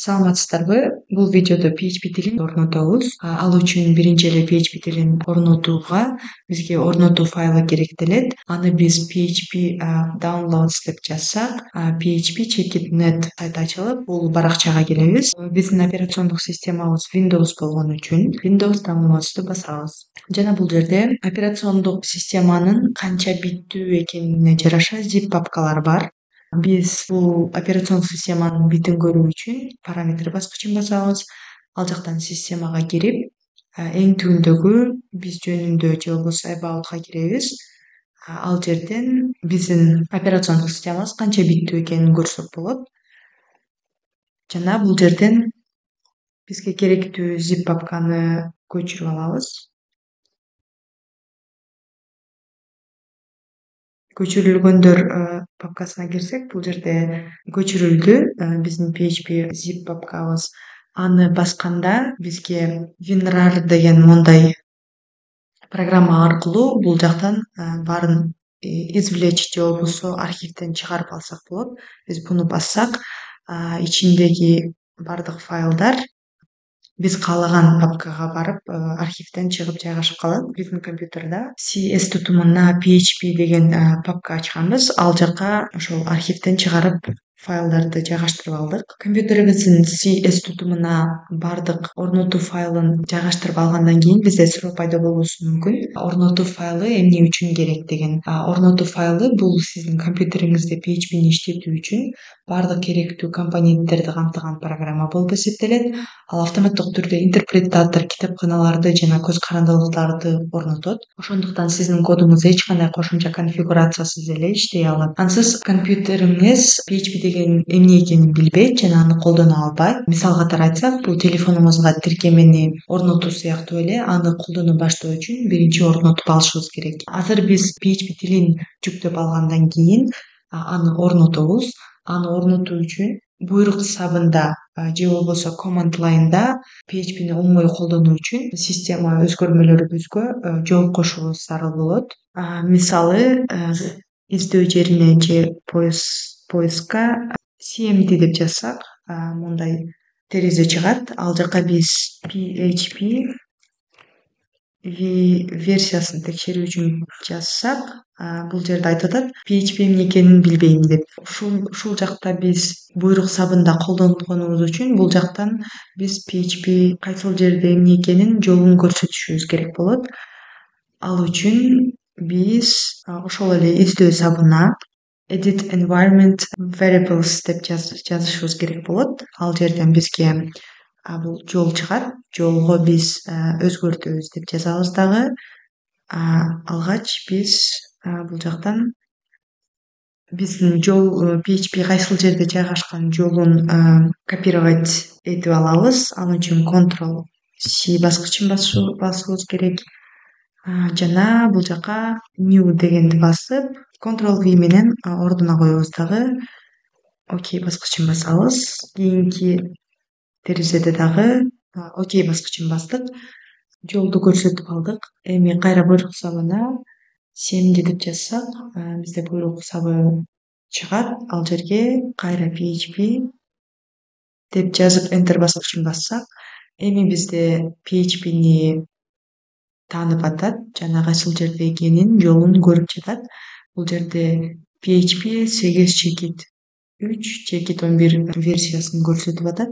Саламатсыздарбы? Бул видеодо PHP тилин орнотобуз. Ал үчүн биринчи эле PHP тилин орнотууга бизге орнотуу файлы керектелет. Аны биз PHP downloads деп жазсак, PHP check.net сайты ачылып, бул баракчага келебиз. Биздин операциондук системабыз Windows болгон үчүн Windows downloads'ту басабыз. Жана бул жерде операциондук системанын канча биттүү экенине жараша zip папкалар бар. Биз бул операциондук системанын битин көрүү үчүн параметр баскычын басабыз. Ал жактан системага кирип, эң түбүндөгү биз жөнүндө же болбосо about'ка киребиз. Ал жерден биздин операциондук системабыз канча биттүү экенин көрсөк болот. Жана бул жерден бизге керектүү zip папканы көчүрүп алабыз. Көчүрүлгөндөр папкасына кирсек, бул жерде көчүрүлдү биздин PHP zip папкабыз. Аны басканда бизге WinRAR деген мондай программа аркылуу бул жактан баарын извлечь же болбосо архивден чыгарып алсак болот. Биз буну бассак, ичиндеги бардык файлдар биз каалаган папкага барып, архивден чыгып жайгашып калат. Биздин компьютерде CS тутумуна PHP деген папка ачканбыз. Ал жака ошол архивден чыгарып файлдарды жайгаштырып алдык. Компьютерибиздин CS тутумуна бардык орнотуу файлын жайгаштырып алгандан кийин бизде суроо пайда болушу мүмкүн. Орнотуу файлы эмне үчүн керек деген. Орнотуу файлы бул сиздин компьютериңизде PHP'ни иштетүү үчүн бардык керектүү компоненттерди камтыган программа болуп эсептелет. Ал автоматтык түрдө интерпретатор, китепканаларды жана көз карандылыктарды орнотот. Ошондуктан сиздин кодуңуз эч кандай кошумча конфигурациясыз эле иштей алат. Ансыз компьютериңиз PHP деген эмне экенин билбейт жана аны колдоно албайт. Мисал катары айтсак, бул телефонуңузга тиркемени орнотуу сыяктуу эле. Аны колдоно баштоо үчүн биринчи орнотуп алышыбыз керек. Азыр биз PHP тилин жүктөп алгандан кийин аны орнотобуз. Аны орнотуу үчүн буйрук сабында же болбосо command line'да PHP'ни оңой колдонуу үчүн система өзгөрмөлөрүбүзгө жооп кошуубуз зарыл болот. Мисалы, издөө жерине же поискка CMD деп жазсак, мындай терезе чыгат. Ал жака биз PHP версиясын текшерүү үчүн жазсак, бул жерде айтып атат PHP эмне экенин билбейм деп. Ушул жакта биз буйрук сабында колдонгонубуз үчүн бул жактан биз PHP кайсыл жерде эмне экенин жолун көрсөтүшүбүз керек болот. Ал үчүн биз ошол эле издөө сабына edit environment variables деп жазышыбыз керек болот. Ал жерден бизге бул жол чыгат. Жолго биз өзгөртөбүз деп жазабыз дагы. Алгач биз бул жактан биздин жол PHP кайсыл жерде жайгашкан жолун копировать этип алабыз. Ал үчүн Ctrl+C баскычын басыбыз керек. Жана бул жака new дегенди басып, Ctrl+V менен ордуна коебуз дагы. OK баскычын басабыз. Кийинки терезеде дагы OK баскычын бастык. Жолду көрсөтүп алдык. Эми кайра буйрук сабына CMD деп жазсак, бизде буйрук сабы чыгат. Ал жерге кайра PHP деп жазып Enter баскычын бассак, эми бизде PHP'ни таанып атат жана кайсыл жерде экенин жолун көрүп жатат. Бул жерде PHP 8.3.11 версиясын көрсөтүп атат.